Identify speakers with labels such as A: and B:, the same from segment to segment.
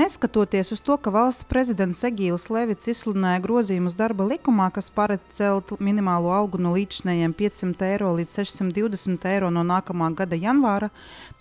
A: Neskatoties uz to, ka valsts prezidents Egīls Levits izsludināja grozījumus darba likumā, kas paredz celt minimālo algu no līdzinējiem 500 eiro līdz 620 eiro no nākamā gada janvāra,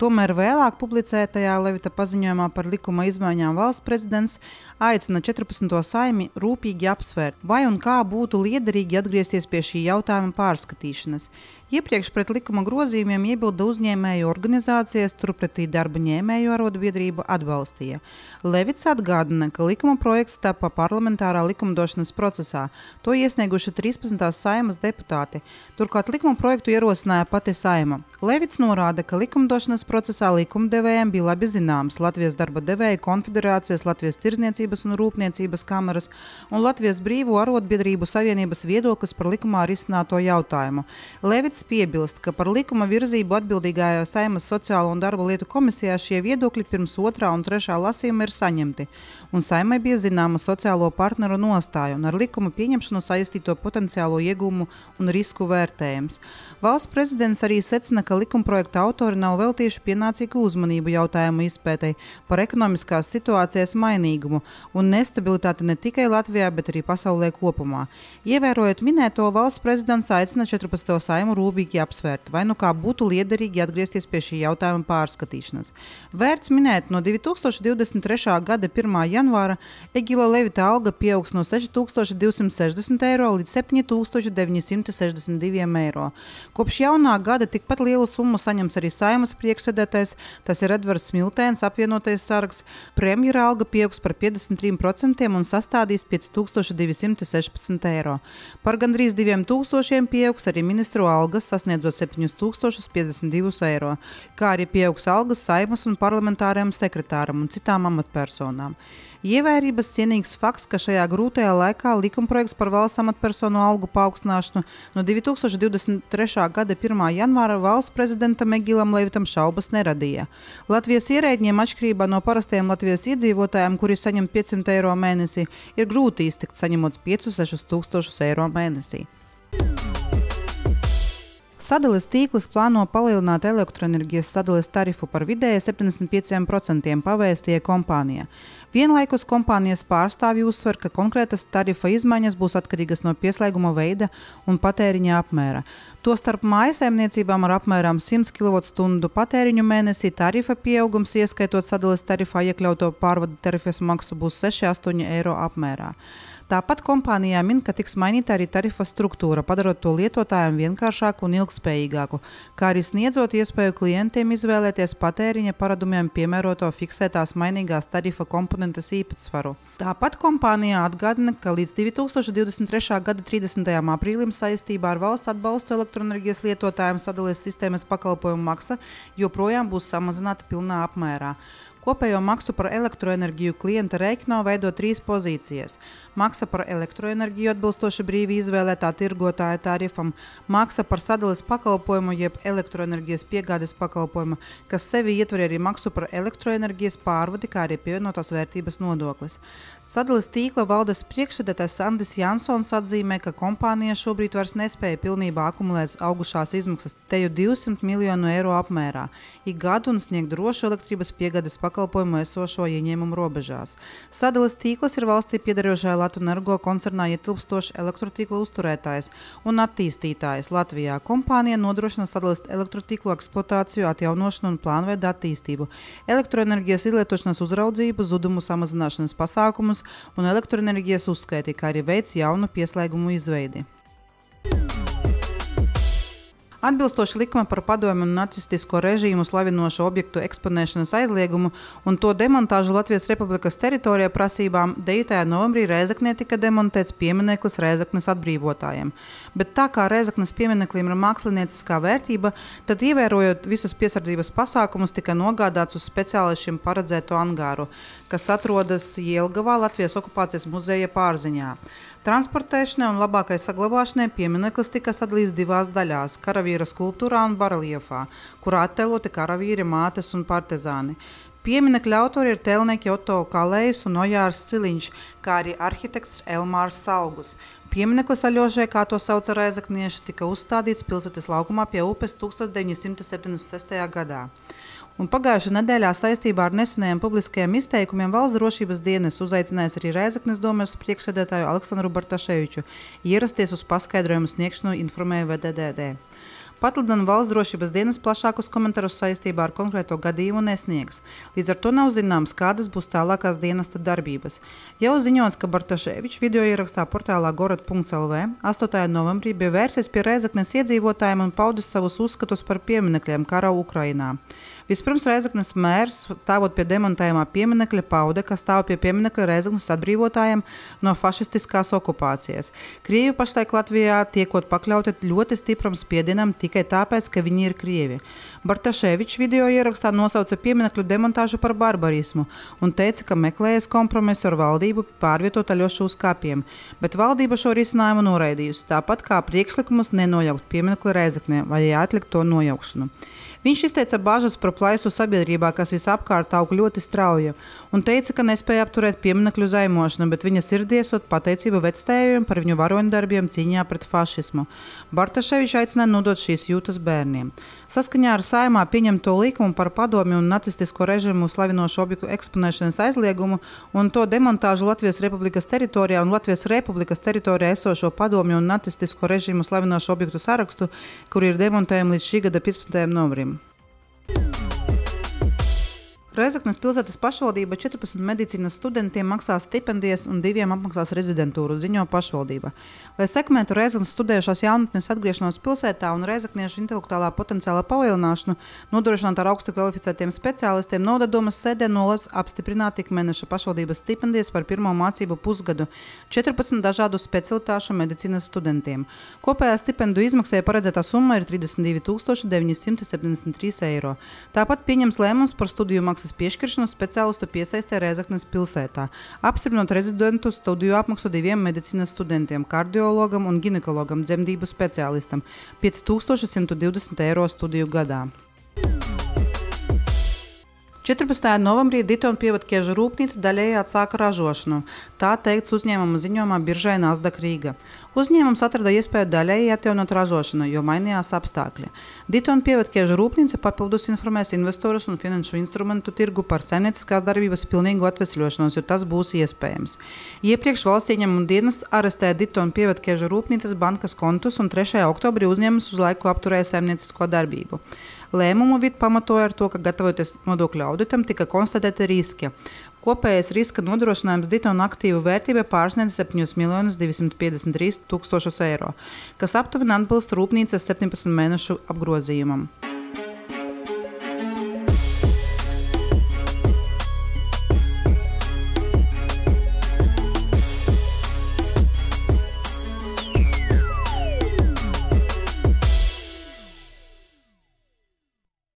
A: tomēr vēlāk publicētajā Levita paziņojumā par likuma izmaiņām valsts prezidents aicina 14. Saeimi rūpīgi apsvērt, vai un kā būtu liederīgi atgriezties pie šī jautājuma pārskatīšanas. Iepriekš pret likuma grozījumiem iebilda uzņēmēju organizācijas, turpretī darba ņēmēju arotbiedrība atbalstīja. Levits atgādina, ka likuma projekts tapa parlamentārā likumdošanas procesā. To iesnieguši 13. Saeimas deputāti. Turklāt likuma projektu ierosināja pati Saeima. Levits norāda, ka likumdošanas procesā likumdevējiem bija labi zināms Latvijas darba devēju konfederācijas, Latvijas Tirdzniecības un Rūpniecības kameras un Latvijas Brīvo arotbiedrību savienības viedoklis par likumā risināto jautājumu. Levits piebilst, ka par likuma virzību atbildīgajā Saeimas sociālo un darba lietu komisijā šie viedokļi pirms 2. un 3. lasījuma ir saņemti, un Saeimai bija zināma sociālo partneru nostāja un ar likuma pieņemšanu saistīto potenciālo iegūmu un risku vērtējums. Valsts prezidents arī secina, ka likumprojekta autori nav veltījuši pienācīgu uzmanību jautājumu izpētei par ekonomiskās situācijas mainīgumu un nestabilitāti ne tikai Latvijā, bet arī pasaulē kopumā. Ievērojot minēto, valsts prezidents aicina 14. Saeimu rūpīgi apsvērt, vai nu kā būtu liederīgi atgriezties pie šī jautājuma pārskatīšanas. Vērts minēt, no 2023. gada 1. janvāra Egīla Levita alga pieaugs no 6260 eiro līdz 7962 eiro. Kopš jaunā gada tikpat lielu summu saņems arī Saeimas priekšsēdētājs, tas ir Edvards Smiltēns, apvienotais sargs. Premjera alga pieaugs par 53% un sastādīs 5216 eiro. Par gandrīz 2000 pieaugs arī ministru algas, sasniedzot 7052 eiro, kā arī pieaugs algas Saeimas un parlamentāriem sekretāram un citām amatpersonām. Ievērības cienīgs fakts, ka šajā grūtajā laikā likumprojekts par valsts amatpersonu algu paaugstināšanu no 2023. gada 1. janvāra valsts prezidentam Egīlam Levitam šaubas neradīja. Latvijas ierēdņiem, atšķirībā no parastiem Latvijas iedzīvotājiem, kuri saņem 500 eiro mēnesī, ir grūti iztikt saņemot 5-6 tūkstošus eiro mēnesī. Sadales tīkls plāno palielināt elektroenerģijas sadales tarifu par vidēji 75% pavēstīja kompānija. Vienlaikus kompānijas pārstāvji uzsver, ka konkrētas tarifa izmaiņas būs atkarīgas no pieslēguma veida un patēriņa apmēra. Tostarp mājasaimniecībām ar apmēram 100 kWh patēriņu mēnesī tarifa pieaugums, ieskaitot sadales tarifā iekļauto pārvadu tarifas maksu, būs 6-8 eiro apmērā. Tāpat kompānijā min, ka tiks mainīta arī tarifa struktūra, padarot to lietotājiem vienkāršāku un ilgspējīgāku, kā arī sniedzot iespēju klientiem izvēlēties patēriņa paradumiem piemēroto fiksētās mainīgās tarifa komponentes īpatsvaru. Tāpat kompānijā atgādina, ka līdz 2023. gada 30. aprīlim saistībā ar valsts atbalstu elektroenerģijas lietotājiem sadales sistēmas pakalpojumu maksa joprojām būs samazināta pilnā apmērā. Kopējo maksu par elektroenerģiju klienta rēķinā veido 3 pozīcijas. Maksa par elektroenerģiju atbilstoši brīvi izvēlētā tirgotāja tarifam, maksa par sadales pakalpojumu jeb elektroenerģijas piegādes pakalpojumu, kas sevi ietver arī maksu par elektroenerģijas pārvadi, kā arī pievienotās vērtības nodoklis. Sadales tīkla valdes priekšsēdētājs Andris Jansons atzīmē, ka kompānija šobrīd vairs nespēja pilnībā akumulēt augušās izmaksas teju 200 miljonu eiro apmērā ik gadu un sniegt drošu elektrības piegādes pakalpojumu esošo ieņēmumu robežās. Sadales tīkls ir valstī piederošajā Latvenergo koncernā ietilpstošs elektrotīkla uzturētājs un attīstītājs Latvijā. Kompānija nodrošina sadales elektrotīklu eksploatāciju, atjaunošanu un plānveidu attīstību, elektroenerģijas izlietošanas uzraudzību, zudumu samazināšanas pasākumus un elektroenerģijas uzskaiti, kā arī veids jaunu pieslēgumu izveidi. Atbilstoši likuma par padomju un nacistisko režīmu slavinošu objektu eksponēšanas aizliegumu un to demontāžu Latvijas Republikas teritorijā prasībām 9. novembrī Rēzeknē tika demontēts piemineklis Rēzeknes atbrīvotājiem. Bet tā kā Rēzeknes piemineklim ir mākslinieciskā vērtība, tad ievērojot visus piesardzības pasākumus tika nogādāts uz speciālišiem paredzēto angāru, kas atrodas Jelgavā Latvijas okupācijas muzeja pārziņā. Transportēšanai un labākai saglabāšanai piemineklis tika sadalīts 2 daļās – karavīra skulptūrā un bareliefā, kurā attēloti karavīri, mātes un partizāni. Pieminekļa autori ir tēlnieki Otto Kalējs un Ojārs Ciliņš, kā arī arhitekts Elmārs Salgus. Piemineklis Aļožai, kā to sauca rēzeknieši, tika uzstādīts pilsētas laukumā pie upes 1976. gadā. Un pagājušajā nedēļā saistībā ar nesenajiem publiskajiem izteikumiem Valsts drošības dienas uzaicinājis arī Rēzeknes domes priekšsēdētāju Aleksandru Bartaševiču ierasties uz paskaidrojumu sniegšanu, informēja VDDD. Patlidina Valsts drošības dienas plašākus komentārus saistībā ar konkrēto gadījumu nesniegs. Līdz ar to nav zināms, kādas būs tālākās dienesta darbības. Jau ziņots, ka Bartaševičs video ierakstā portālā gorod.lv 8. novembrī bija vērsies pie Rēzeknes iedzīvotājiem un paudis savus uzskatus par pieminekļiem kara Ukrainā. Vispirms Rēzeknes mērs, stāvot pie demontējumā pieminekļa, pauda, ka stāv pie pieminekļa Rēzeknes atbrīvotājiem no fašistiskās okupācijas. Krievi pašlaik Latvijā tiekot pakļauti ļoti stipram spiedienam tikai tāpēc, ka viņi ir krievi. Bartaševičs video ierakstā nosauca pieminekļu demontāžu par barbarismu un teica, ka meklējas kompromisu ar valdību pārvietot Aļošu uz kapiem, bet valdība šo risinājumu noraidījusi, tāpat kā priekšlikumus nenojaukt pieminekli Rēzeknē vai atlikt to nojaukšanu. Viņš izteica bažas par plaisu sabiedrībā, kas visapkārt aug ļoti strauji, un teica, ka nespēja apturēt pieminekļu zaimošanu, bet viņa sirdī esot pateicība vectēviem par viņu varoņdarbiem cīņā pret fašismu. Bartaševičs aicināja nodot šīs jūtas bērniem. Saskaņā ar Saeimā pieņemto likumu par padomju un nacistisko režimu slavinošu objektu eksponēšanas aizliegumu un to demontāžu Latvijas Republikas teritorijā un Latvijas Republikas teritorijā esošo padomju un nacistisko režimu slavinošu objektu sarakstu, kur ir demontējumi līdz šī gada 15. novembrim. Rēzeknes pilsētas pašvaldība 14 medicīnas studentiem maksās stipendijas un 2 apmaksās rezidentūru, ziņo pašvaldība. Lai sekmētu Rēzeknes studējušās jaunatnes atgriešanos pilsētā un rēzekniešu intelektuālā potenciāla palielināšanu, nodrošināt ar augstu kvalificētiem speciālistiem, Novada domes sēdē nolēmts apstiprināt ikmēneša pašvaldības stipendijas par pirmo mācību pusgadu 14 dažādu specialitāšu medicīnas studentiem. Kopējā stipendiju izmaksai paredzētā summa ir 32 973 eiro. Tāpat pieņems lēmums par studiju maksas piešķiršanu speciālistu piesaistē Rēzeknes pilsētā, apstiprinot rezidentu studiju apmaksu 2 medicīnas studentiem, kardiologam un ginekologam, dzemdību speciālistam, 5120 eiro studiju gadā. 14. novembrī Ditona pievedķiežu rūpnīca daļēji atsāka ražošanu. Tā teikts uzņēmuma ziņojumā biržai Nasdaq Rīga. Uzņēmums atrada iespēju daļēji atjaunot ražošanu, jo mainījās apstākļi. Ditona pievedķiežu rūpnīca papildus informēs investorus un finanšu instrumentu tirgu par saimnieciskās darbības pilnīgu atvesļošanos, jo tas būs iespējams. Iepriekš valsts ieņēmuma dienests arestēja Ditona pievedķiežu rūpnīcas bankas kontus un 3. oktobrī uzņēmums uz laiku apturēja saimniecisko darbību. Lēmumu vid pamatoja ar to, ka gatavoties nodokļu auditam tika konstatēti riski. Kopējais riska nodrošinājums Ditona aktīvu vērtība pārsniedz 7 253 000 eiro, kas aptuveni atbilst rūpnīcas 17 mēnešu apgrozījumam.